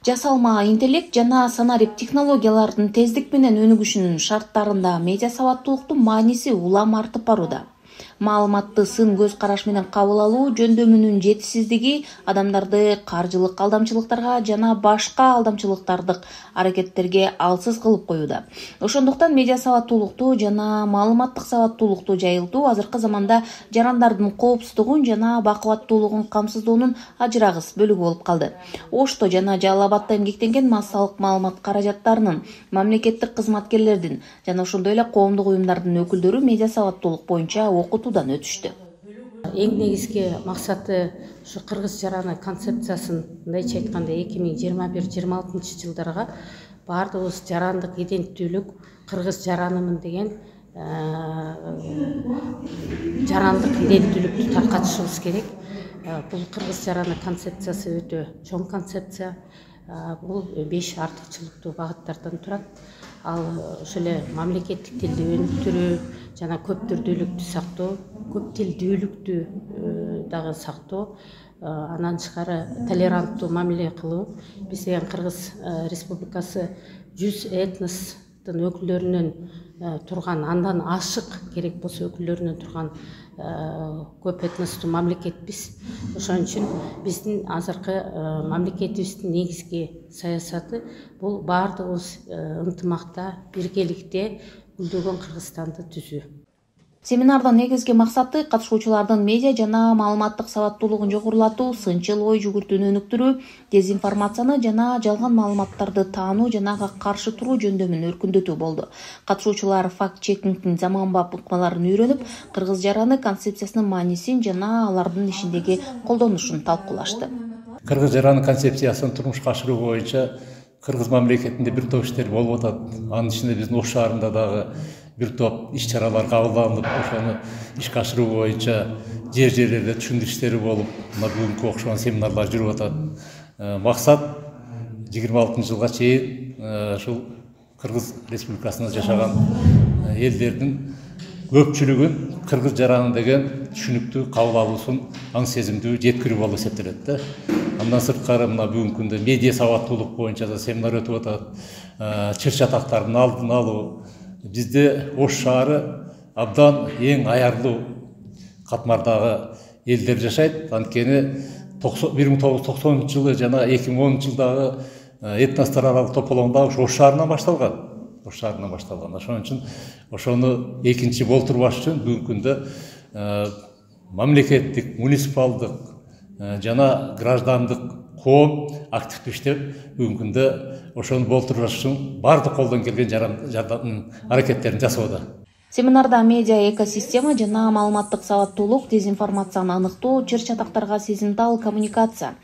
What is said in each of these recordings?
Жасалма интеллект жана санарип технологиялардын тездик менен өнүгүшүнүн шарттарында медиа сабаттуулуктун мааниси улам артып барууда. Маалыматты сын көз караш менен кабыл алуу жөндөмүнүн жетишсиздиги адамдарды каржылык алдамчылыктарга жана башка алдамчылыктардык аракеттерге алсыз кылып коюуда. Ошондуктан медиа сабаттуулукту жана маалыматтык сабаттуулукту жайылтуу азыркы заманда жарандардын коопсуздугун жана бакубаттуулугун камсыздоонун ажырагыс бөлүгү болуп калды. Ошто жана Жалал Абадда эмгектенген массалык маалымат каражаттарынын, мамлекеттик кызматкерлердин жана ошондой эле коомдук уюмдардын өкүлдөрү медиа сабаттуулук боюнча окутуудан өтүштү. Эң негизги максаты ушу кыргыз жараны концепциясын мындайча айтканда 2021-26 жылдарга баардыгыбыз жарандык иденттүүлүк кыргыз жаранымын деген жарандык иденттүүлүктү таркатышыбыз керек. Бул кыргыз жараны концепциясы өтө чоң концепция. Бул 5 артыкчылыктуу багыттардан турат. Ал ошол эле мамлекеттик тилди өнүктүрүү жана көп түрдүүлүктү сактоо, көп тилдүүлүктү дагы сактоо, андан тышкары толеранттуу мамиле кылуу. Биз деген Кыргыз Республикасы 100 этностун өкүлдөрүнөн турган, андан ашык керек болсо өкүлдөрүнөн турган көп этностуу мамлекетпиз. Ошон үчүн биздин азыркы мамлекетибиздин негизги саясаты бул баардыгыбыз ынтымакта, биргеликте гүлдөгөн Кыргызстанды түзүү. Семинардын негизги максаты катышуучулардын медиа жана маалыматтык сабаттуулугун жогорулатуу, сынчыл ой жүгүртүүнү өнүктүрүү, дезинформацияны жана жалган маалыматтарды таануу жана ага каршы туруу жөндөмүн өркүндөтүү болду. Катышуучулар факт-чекингдин заманбап ыкмаларын үйрөнүп, кыргыз жараны концепциясынын маанисин жана алардын ишиндеги колдонушун талкуулашты. Кыргыз жараны концепциясын турмушка ашыруу боюнча кыргыз мамлекетинде бир топ иштер болуп атат. Анын ичинде биздин Ош шаарында дагы бир топ иш-чаралар кабылданып, ошону ишке ашыруу боюнча жерлерде түшүндүрүү иштери болуп, мына бүгүнкү окшогон семинарлар жүрүп атат. Максат 26 жылга чейин ушул Кыргыз Республикасында жашаган элдердин көпчүлүгүн кыргыз жараны деген түшүнүктүү кабыл алуусун аң сезимдүү жеткирүү болуп эсептелет да. Андан сырткары мына бүгүнкү күндө медиа сабаттуулук боюнча да семинар өтүп атат. Чыр чатактардын алдын алуу. Бизде Ош шаары абдан эң аярлуу катмардагы элдер жашайт. Анткени 1990 жылы жана 2010 жылдагы этностор аралык тополоңдо Ош шаарынан башталган. Ошон үчүн ошону экинчи болтурбаш үчүн бүгүнкү күндө мамлекеттик, муниципалдык жана граждандык коом активдүү иштеп, бүгүнкү күндө ошону болтурбаш үчүн баардык колдон келген жардам аракеттерин жасоодо. Семинарда медиа экосистема жана маалыматтык сабаттуулук, дезинформацияны аныктоо, чыр чатактарга сезимтал коммуникация,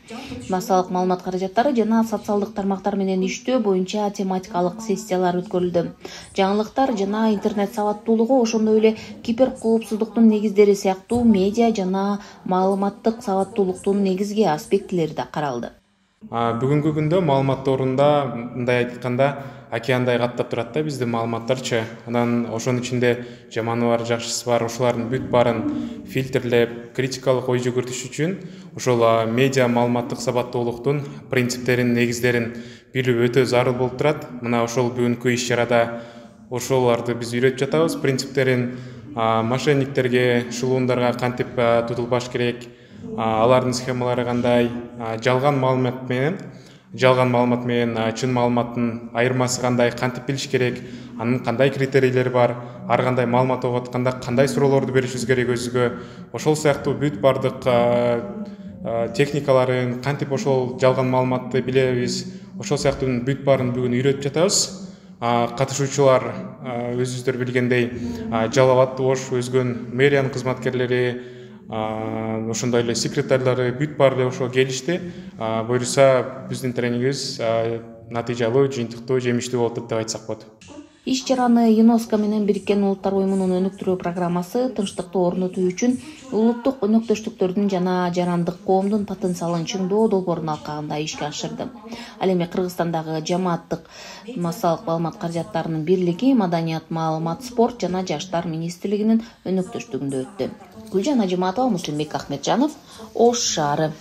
массалык маалымат каражаттары жана социалдык тармактар менен иштөө боюнча тематикалык сессиялар өткөрүлдү. Жаңылыктар жана интернет сабаттуулугу, ошондой эле киберкоопсуздуктун негиздери сыяктуу медиа жана маалыматтык сабаттуулуктун негизги аспектилери да каралды. Бүгүнкү күндө маалыматторунда мындай айтканда океандай каттап турат да биздин маалыматтарчы. Анан ошонун ичинде жаманы бар, жакшысы бар. Ошолардын бүт баарын фильтрлеп, критикалык ой жүгүртүш үчүн ошол медиа маалыматтык сабаттуулуктун принциптерин, негиздерин билүү өтө зарыл болуп турат. Мына ошол бүгүнкү иш-чарада ошолорду биз үйрөтүп жатабыз. Принциптерин мошенниктерге, шылуундарга кантип тутулбаш керек, алардын схемалары кандай, жалган маалымат менен чын маалыматтын айырмасы кандай, кантип билиш керек, анын кандай критерийлери бар, ар кандай маалымат окуп атканда кандай суроолорду беришибиз керек өзүгө, ошол сыяктуу бүт бардык техникаларын, кантип ошол жалган маалыматты билебиз, ошол сыяктуу бүт баарын бүгүн үйрөтүп жатабыз. Катышуучулар өзүңүздөр билгендей Жалал Абад, Ош, өзгөн мэриянын кызматкерлери, ошондой эле секретарлары бүт баары эле ошо келишти. Буюрса биздин тренингибиз натыйжалуу, жыйынтыктуу, жемиштүү болуп деп айтсак болот. Иш-чараны ЮНЕСКО менен Бириккен Улуттар Уюмунун өнүктүрүү программасы тынчтыкты орнотуу үчүн улуттук өнөктөштүктөрдүн жана жарандык коомдун потенциалын чыңдоо долбоорун алкагында ишке ашырды. Ал эми Кыргызстандагы жамааттык массалык маалымат каражаттарынын бирлиги, Маданият, маалымат, спорт жана жаштар министрлигинин өнөктөштүгүндө өттү. Гүлжан Ажыматова, Муслимбек Ахметжанов, Ош шаары.